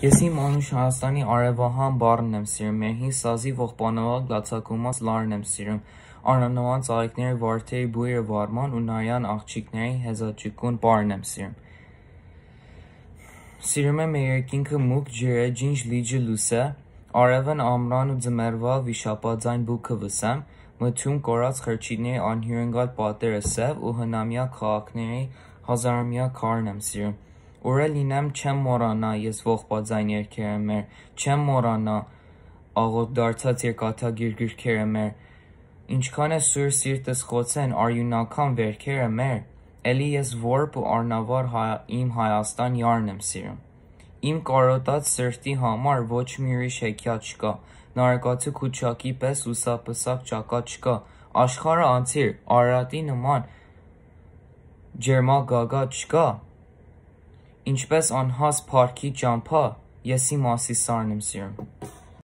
Ես իմ անուշ Հայաստանի արևահան բառն եմ սիրում, մեր հին սազի ողբանավակ լացակումած լարն եմ սիրում, արանոան ծաղիկների վարդերի բույրը վարման ու նարյան աղջիկների հեզաճկուն պարն եմ սիրում։ Սիրում եմ մեր երկինքը մուկ ջրե ջինջ լիջը լուսե, արևն ամռան ու ձմեռվա վիշապաձայն բուքը վսեմ, մթյուն կորած խրճիթների անհյուրընկալ պատերը սև ու հնամյա քաղաքների հազարամյա քարն եմ սիրում։ Ուր լինեմ չեմ մոռանա ես ողբաձայն երգերը մեր, չեմ մոռանա աղոտ դարձած երկաթագիր գրքերը մեր, ինչքան է սուր սիրտս խոցեն արյունաքամ վերքերը մեր, էլի ես որբ ու առնավար իմ Հայաստան յարն եմ սիրում։ Իմ կարոտած սրտի համար ոչ մի ուրիշ հեքիաթ չկա, նարկածու քուչակի պես լուսապսակ ճակատ չկա, աշխարհը անցիր, Արարատի նման ջերմագագաթ չկա, ինչպես անհաս փառքի ճամփա, ես իմ Ասիսարն եմ սիրում։